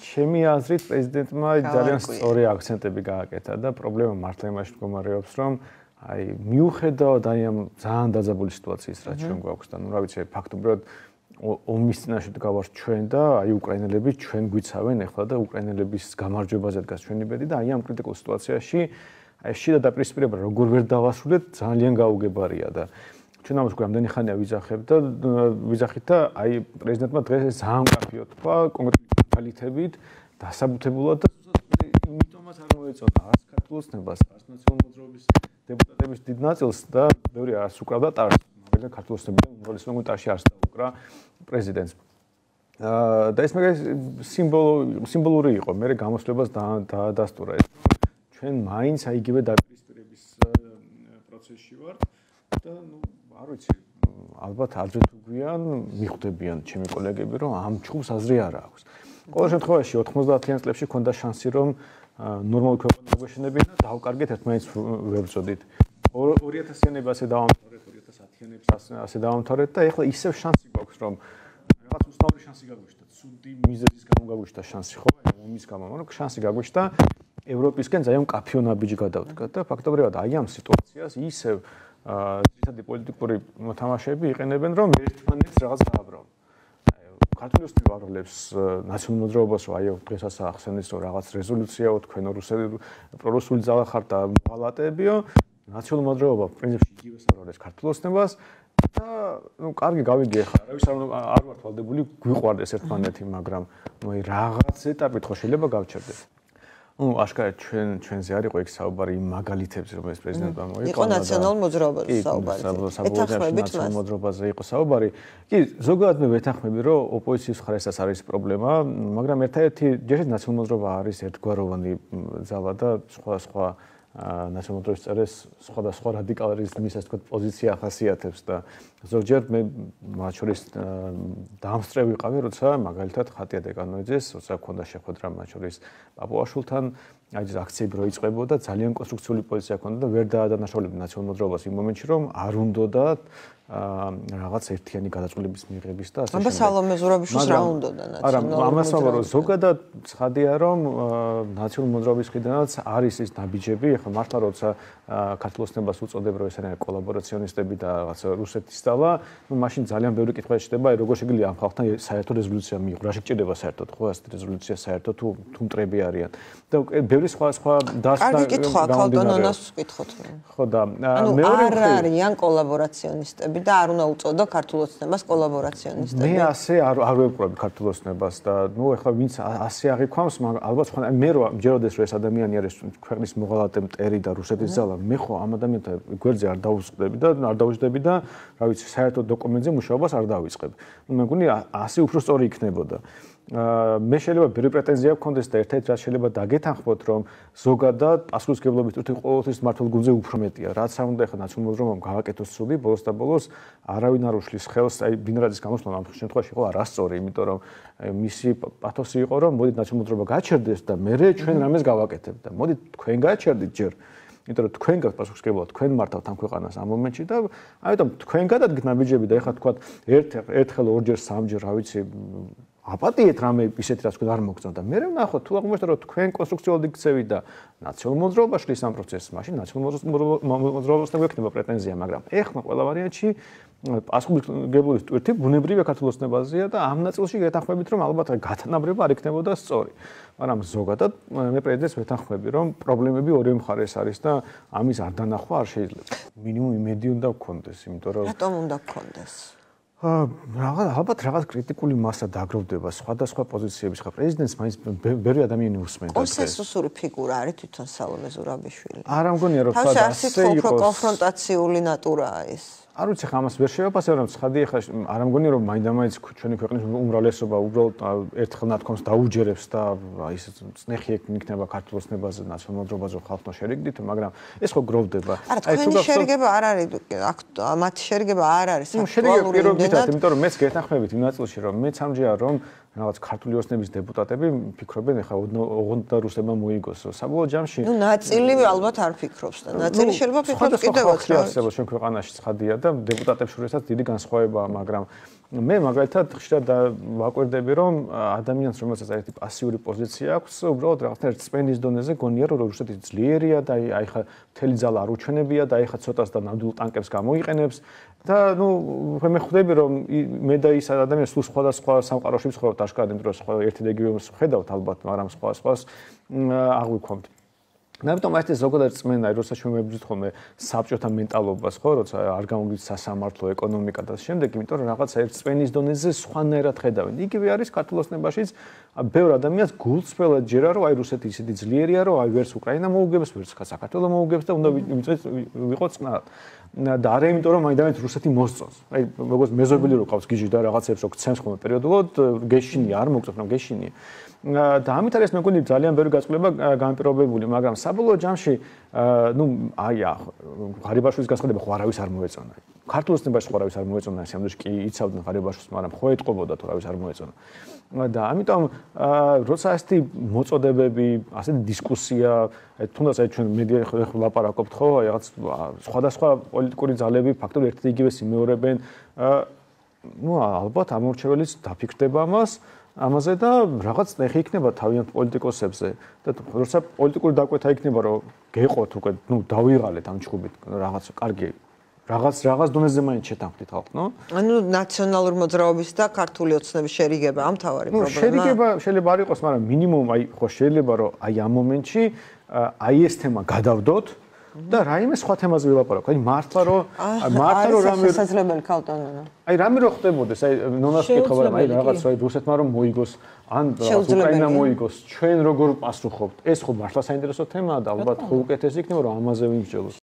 ჩემი აზრით პრეზიდენტმა ძალიან სწორი აქცენტები გააკეთა და პრობლემა მართლა იმაში მდგომარეობს, რომ აი მიუხედავად აი ამ ძალიან დაძაბული სიტუაციის რაც ჩვენ გვაქვს და ნუ რა ვიცი ფაქტობრივად ომის წინაშე გავართ ჩვენ და აი უკრაინელები ჩვენ გვიცავენ ახლა და უკრაინელების გამარჯვებაზე დგას ჩვენი ბედი და აი ამ კრიტიკულ სიტუაციაში აი შიდა დაპირისპირება როგორ ვერ დავასრულეთ ძალიან გაუგებარია და ჩვენ ამას რამდენი ხანია ვიძახით და აი პრეზიდენტმა დღეს ძალიან მკაფიო თქვა კონკრეტული მაგალითებით დასაბუთებულად და იმიტომაც არ მოეწონა არც ქართულოს ნებას არც ნაციონალურ მოძრაობის დეპუტატების დიდ ნაწილს და ბევრი არც უკრავდა ტარს მაგრამ ქართულოს ნებიდან უმრავლესობა ტარში არც დაუკრა პრეზიდენტს და ეს მაგას სიმბოლური იყო მე გამოსვლებას დაადასტურა ეს ჩვენ მაინც აი იგივე დაპირისპირების პროცესში ვართ და ნუ არ ვიცი ალბათ ადრე თუ გვიან მიხვდებიან ჩემი კოლეგები რომ ამ ჩხუბს აზრი არ აქვს ყოველ შემთხვევაში 90-იან წლებში ჰქონდა შანსი რომ ნორმალური ქვეყანა მოგვეშენებინა და დავკარგეთ ერთმანეთს ვებრძოდით 2000-იანებს ასე დავამთავრეთ 2010-იანებს ასე დავამთავრეთ და ეხლა ისევ შანსი გვაქვს რომ რაღაც უსტავრი შანსი გაგვიშთა ცუდი მიზეზის გამო გაგვიშთა შანსი ხო ომის გამო მაგრამ შანსი გაგვიშთა ევროპისკენ ძალიან მკაფიო ნაბიჯი გადავდგა და ფაქტობრივად აი ამ სიტუაციას ისევ ძირითადი პოლიტიკური მოთამაშეები იყენებენ რომ ერთმანეთს რაღაც გააბრალონ ქართული ოსტივ აროლებს ნაციონალურ მოძრაობას რომ აი დღესაც ახსენეს რომ რაღაც რეზოლუციაო თქვენო პრორუსული ძალა ხართ და მღალატებიო ნაციონალურ მოძრაობა პრინციპში იგივე საროლებს ქართულ ოსტებას და ნუ კარგი გავიგი ახლა არავის არ ვართ ვალდებული გვიყვარდეს ერთმანეთი მაგრამ ნუ აი რაღაც ეტაპით ხო შეიძლება გავჩერდეს ну ашკარად ჩვენზე არ იყო იქ საუბარი იმ მაგალითებზე რომ ეს პრეზიდენტმა მოიყონა იყო ნაციონალურ მოძრაობაზე საუბარი ნაციონალურ მოძრაობაზე იყო საუბარი კი ზოგადად მე ვეთანხმები რომ ოპოზიციის მხარესაც არის პრობლემა მაგრამ ერთადერთი ჯერჯერობით ნაციონალურ მოძრაობა არის ერთგვაროვანი ძალა და სხვა ნაციონალურ მოძრაობის წევრებს სხვადასხვა რადიკალიზმის ასე ვთქვათ პოზიცია ახასიათებს და ზოგჯერ მე მათ შორის დამსწრე ვიყავი როცა მაგალითად ხატია დეკანოიძეს როცა ჰქონდა შეხვედრა მათ შორის პაპუაშვილთან აი ეს აქციები რო იწყებოდა ძალიან კონსტრუქციული პოზიცია ჰქონდა და ვერ დაადანაშაულებდა ნაციონალურ მოძრაობას იმ მომენტში რომ არ უნდოდა რაღაც ერთიანი გადაწყვეტილების მიღების და ასე შემდეგ. სალომე ზურაბიშვილს რა უნდოდა ნაციონალურ არა, ამას ვამბობ, ზოგადად ცხადია რომ ნაციონალურ მოძრაობის მხრიდანაც არის ის ნაბიჯები, ახლა მართლა როცა ქართულ ოსნებას უწოდებ რომ ეს არის კოლაბორაციონისტები და რაღაც რუსეთის დავა, ну მაშინ ძალიან ბევრი კითხვა შედება, როგორ შეიძლება ამ ხალხთან საერთო რეზოლუცია მიიღო, რა შეჭირდება საერთოდ, ხო, ეს რეზოლუცია საერთოდ თუ მტრები არიან. და ბევრი სხვა დასტა კარგი კითხვა, ქალტონონას ვკითხოთ. ხო და მეორე არ არიან კოლაბორაციონისტები და არ უნდა უწოდო ქართულ ოცნებას კოლაბორაციონისტები. მე ასე არ ვეპყრობ ქართულ ოცნებას და ნუ ეხლა ვინც ასე აღიქვამს, ალბათ ხო მე რო მჯეროდეს რომ ეს ადამიანი არის ქვეყნის მოღალატე მტერი და რუსეთის ძალა, მე ხო ამ ადამიანთან გვერდზე არ დავუსწრები და არ დავუჯდები და რა ვიცი, საერთო დოკუმენტზე მუშაობას არ დავიწყებ. მე მგონი ასე უფრო სწორი იქნებოდა. მე შეიძლება ბევრი პრეტენზია გქონდეს და ერთ-ერთი რაც შეიძლება დაგეთანხმოთ რომ ზოგადად პასუხისმგებლობის წუთი ყოველთვის მართლ გუნდზე უფრო მეტია რაც არ უნდა ეხლა ნაციონალურ მოძრაობამ გავაკეთოს ცუდი ბოლოს და ბოლოს არავინ არ უშლის ხელს აი ბინრაძის გამოსვლა ამ შემთხვევაში იყო არასწორი იმიტომ რომ მისი პათოსი იყო რომ მოდით ნაციონალურ მოძრაობა გაჩერდეს და მე ჩვენ რამეს გავაკეთებთ და მოდით თქვენ გაჩერდით ჯერ იმიტომ რომ თქვენ გაქვთ პასუხისმგებლობა თქვენ მართავთ ამ ქვეყანას ამ მომენტში და ამიტომ თქვენ გადადგეთ ნაბიჯები და ეხლა თქვა ერთხელ ორჯერ სამჯერ რა ვიცი აპატიეთ რამე ისეთი რაც თქვენ არ მოგწონთ და მე ვნახოთ თუ აღმოჩნდა რომ თქვენ კონსტრუქციულად იქცევით და ნაციონალურ მოძრაობა შლის ამ პროცესს მაშინ ნაციონალურ მოძრაობასთან გვექნება პრეტენზია მაგრამ ეხლა ყველა ვარიანტში პასუხისმგებლობის ტვირთი ბუნებრივია ქართულ ოცნებაზეა და ამ ნაწილში გეთანხმებით რომ ალბათ გათანაბრება არ იქნებოდა სწორი მაგრამ ზოგადად მე პრეზიდენტს ვეთანხმები რომ პრობლემები ორივე მხარეს არის და ამის არ დანახვა არ შეიძლება მინიმუმ იმედი უნდა გქონდეს იმიტომ რომ რატომ უნდა გქონდეს ალბათ რაღაც კრიტიკული მასა დაგროვდება სხვადასხვა პოზიციების ხა პრეზიდენტს მაინც ბევრი ადამიანი უსმენდა კონსენსუსური ფიგურა არის თვითონ სალომე ზურაბიშვილი არ ამგონია რომ თავში არსით უფრო კონფრონტაციული ნატურაა ეს არ ვიცი ხა ამას ვერ შევაფასებ რომ ცხადია ხა არ ამგონია რომ მაინდამაინც ჩვენი ქვეყნის უმრავლესობა უბრალოდ ერთხელ ნათქვამს დაუჯერებს და ის წნეხი იქნება ქართულ ოცნებაზე ნაციონალურ მოძრაობაზე ხალხთან შერიგდით მაგრამ ეს ხო გროვდება არა თქვენი შერიგება არ არის მათი შერიგება არ არის აქტუალური იმიტომ რომ მეც გეთანხმებით იმ ნაწილში რომ მეც ამჯერა რომ რაღაც ქართული ოცნების დეპუტატები ფიქრობენ ეხლა ოღონდ და რუსებმა მოიგოს. საბოლოო ჯამში ნუ ნაწილი ალბათ არ ფიქრობს და ნაწილი შეიძლება ფიქრობს კიდევაც რა. ჩვენ ქვეყანაში ცხადია და დეპუტატებს შორისაც დიდი განსხვავებაა, მაგრამ მე მაგალითად ხშირად ვაკვირდები რომ ადამიანს რომელსაც ერთი პასიური პოზიცია აქვს, უბრალოდ რაღაცნაირად სპენის დონეზე გონია რომ რუსეთი ძლიერია და აი ხა მთელი ძალა არ უჩვენებია და აი ხა ცოტას და ნამდვილ ტანკებს გამოიყენებს და ნუ მე ხვდები რომ მე და ის ადამიანი სულ სხვადასხვა სამყაროში ვცხოვრობთ აშკარად იმ დროს ერთი და იგივე ხედავთ ალბათ, მაგრამ სხვას აღვიქვამთ. ამიტომ აი ეს ზოგადად წმენა, როდესაც ჩვენ მებრძვით ხოლმე საბჭოთა მენტალობას, ხო, როცა არ გამოგვიძ სასამართლო, ეკონომიკა და შემდეგ, იმიტომ რომ რაღაცა ერთ წმენის დონეზე სხვანაირად ხედავენ. იგივე არის ქართულ ოცნებაშიც, ბევრ ადამიანს გულწრფელად ჯერა რომ აი რუსეთი ისეთი ძლიერია, რომ აი ვერც უკრაინა მოუგებს, ვერც საქართველო მოუგებს და უნდა ვიყოთ წყნარად. და არა იმიტომ რომ მაინც რუსეთი მოსწონს. აი როგორც მეზობელი რო ყავს გიჟი და რაღაცებს რო გცემს ხოლმე პერიოდულად, გეშინია, არ მოგწონს, რომ გეშინია. და ამით არის მე მგონი ძალიან ბევრი გაწყვეტილება განპირობებული, მაგრამ საბოლოო ჯამში ნუ აი ღარიბაშვილის განცხადება ხო არავის არ მოეწონა. ქართულ ოცნებაში ხო არავის არ მოეწონა, სამდროში კი იცავდნენ ღარიბაშვილს, მაგრამ ხო ეტყობოდა თუ არავის არ მოეწონა. და ამიტომ როცა ასეთი მოწოდებები, ასეთი დისკუსია, თუნდაც აი ჩვენ მედია ხო ლაპარაკობთ ხო, აი რაღაც სხვადასხვა პოლიტიკური ძალები ფაქტობრივად ერთ და იგივე სიმეორებენ, ნუ ალბათ ამორჩეველიც დაფიქრდება ამაზე და რაღაც ნეხი იქნება თავიანთ პოლიტიკოსებზე და როცა პოლიტიკური დაკვეთა იქნება რომ გეყოთ უკვე ნუ დავიღალეთ ამ ჩხუბით რაღაც კარგი რაღაც დონეზე მაინც შეთანხმდით ხალხ, ნო? ანუ ნაციონალურ მოძრაობის და ქართული ოცნების შერიგება ამ თავარი პრობლემაა. შერიგება შეიძლება არ იყოს, მაგრამ მინიმუმ აი ხო შეიძლება რომ აი ამ მომენტში აი ეს თემა გადავდოთ და რაიმე სხვა თემაზე ვილაპარაკო. აი მართლა რომ რამე შესაძლებელი ქალტონონა. აი რამე რო ხდებოდეს, აი ნონას კითხვა, აი რაღაც აი რუსეთმა რომ მოიგოს, ან უკრაინა მოიგოს, ჩვენ როგორ პასუხობთ? ეს ხო მართლა საინტერესო თემაა და ალბათ ხო უკეთესი იქნება რომ ამაზე ვიმსჯელოთ.